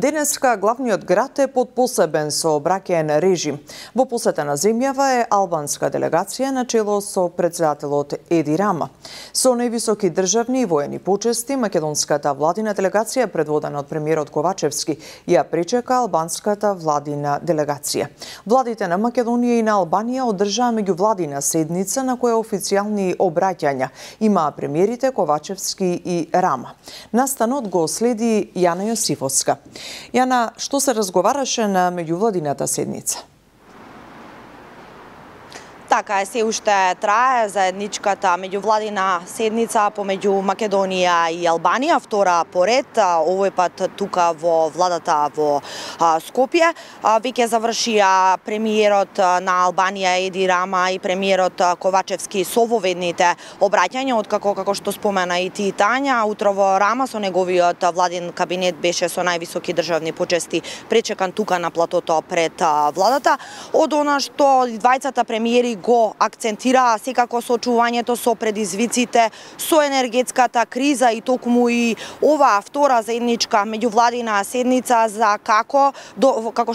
Денеска главниот град е под посебен сообраќаен режим. Во посета на земјава е албанска делегација на чело со претседателот Еди Рама. Со највисоки државни и воени почести, македонската владина делегација, предводена од премиерот Ковачевски, ја пречека албанската владина делегација. Владите на Македонија и на Албанија одржаа меѓувладина седница на која официјални обраќања имаа премиерите Ковачевски и Рама. Настанот го следи Јана Јосифовска. Јана, што се разговараше на меѓувладината седница? Така е, се уште трае заедничката меѓувладина седница помеѓу Македонија и Албанија, втора поред, овој пат тука во владата во Скопје. Веќе завршија премиерот на Албанија Еди Рама и премиерот Ковачевски со воведните обраќања, откако, како што спомена и ти Тања, утрово Рама со неговиот владин кабинет беше со највисоки државни почести пречекан тука на платото пред владата. Од она што двајцата премиери го акцентираа секако соочувањето со предизвиците, со енергетската криза и токму и оваа втора заедничка меѓувладина седница за како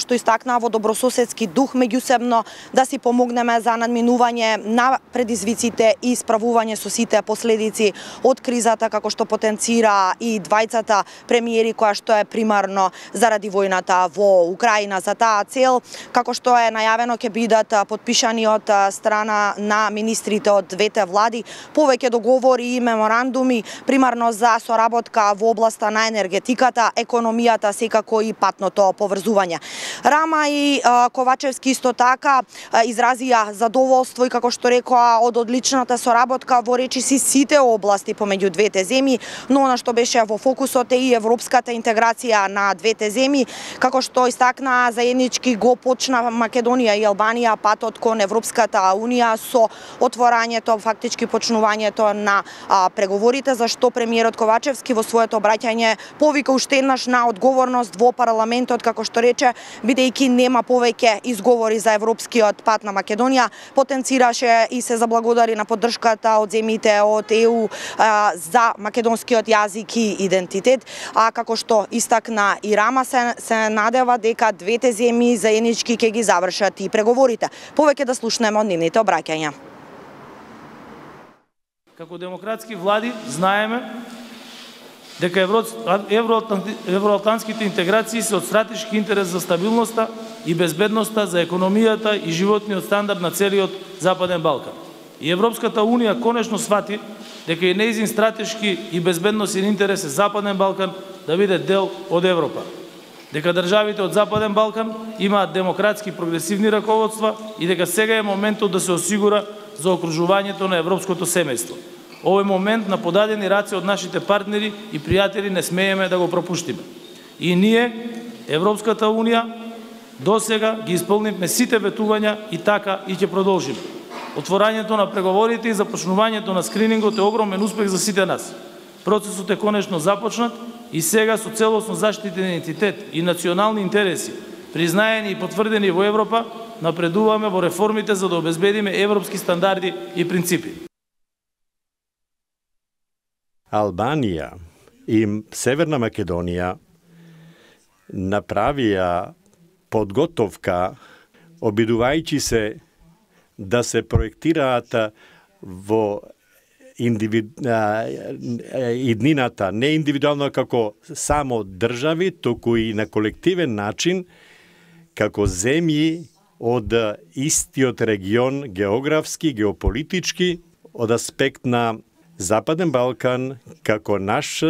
што истакнаа во добрососедски дух меѓусебно да си помогнеме за надминување на предизвиците и справување со сите последици од кризата, како што потенцира и двајцата премиери, која што е примарно заради војната во Украина. За таа цел, како што е најавено, ќе бидат потпишани од страна на министрите од двете влади повеќе договори и меморандуми, примарно за соработка во областа на енергетиката, економијата, секако и патното поврзување. Рама и Ковачевски исто така изразија задоволство и, како што рекоа, од одличната соработка во речиси сите области помеѓу двете земји, но она што беше во фокусот е и европската интеграција на двете земји, како што истакнаа заеднички го почна Македонија и Албанија патот кон Европската Унија со отворањето, фактички почнувањето на преговорите, за што премиерот Ковачевски во своето обраќање повика уште еднаш на одговорност во парламентот, како што рече, бидејќи нема повеќе изговори за европскиот пат на Македонија, потенцираше и се заблагодари на поддршката од земјите од ЕУ за македонскиот јазик и идентитет, а како што истакна и Рама, се надева дека двете земји заеднички ќе ги завршат и преговорите. Повеќе да слушнеме од нивните обраќања. Како демократски влади знаеме дека евроатлантските интеграции се од стратешки интерес за стабилноста и безбедноста, за економијата и животниот стандард на целиот Западен Балкан. И Европската Унија конечно свати дека и нејзин стратешки и безбедносен интерес е Западен Балкан да биде дел од Европа. Дека државите од Западен Балкан имаат демократски прогресивни раководства и дека сега е моментот да се осигура за окружувањето на европското семејство. Овој момент на подадени раце од нашите партнери и пријатели не смееме да го пропуштиме. И ние, Европската Унија, досега ги исполнивме сите ветувања и така и ќе продолжиме. Отворањето на преговорите и започнувањето на скринингот е огромен успех за сите нас. Процесот е конечно започнат и сега со целосно заштитен идентитет и национални интереси, признаени и потврдени во Европа, напредуваме во реформите за да обезбедиме европски стандарди и принципи. Албанија и Северна Македонија направија подготовка, обидувајќи се да се проектираат во иднината, не индивидуално како само држави, туку и на колективен начин, како земји од истиот регион, географски, геополитички, од аспект на Западен Балкан, како наш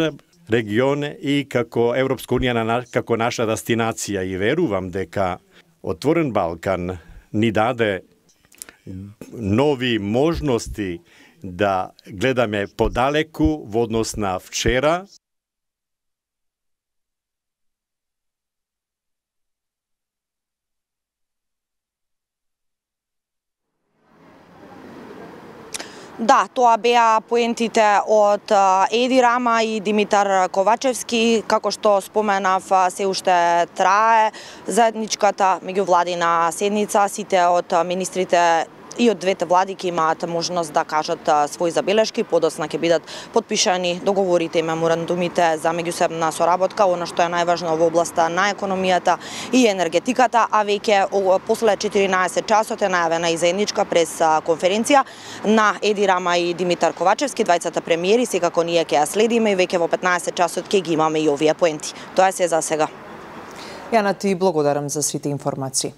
регион и како Европска Унија, како наша дестинација. И верувам дека Отворен Балкан ни даде нови можности да гледаме подалеку во однос на вчера. Да, тоа беа поентите од Еди Рама и Димитар Ковачевски. Како што споменав, се уште трае заедничката меѓувладина седница. Сите од министрите и од двете влади ќе имаат можност да кажат своји забелешки, подоцна ќе бидат подпишани договорите и меморандумите за меѓусебна соработка, она што е најважно во областа на економијата и енергетиката, а веќе после 14 часот е најавена и заедничка прес конференција на Еди Рама и Димитар Ковачевски, двајцата премиери, секако ние ќе ја следиме и веќе во 15 часот ќе ги имаме и овие поенти. Тоа се за сега. Јана, ти благодарам за сите информации.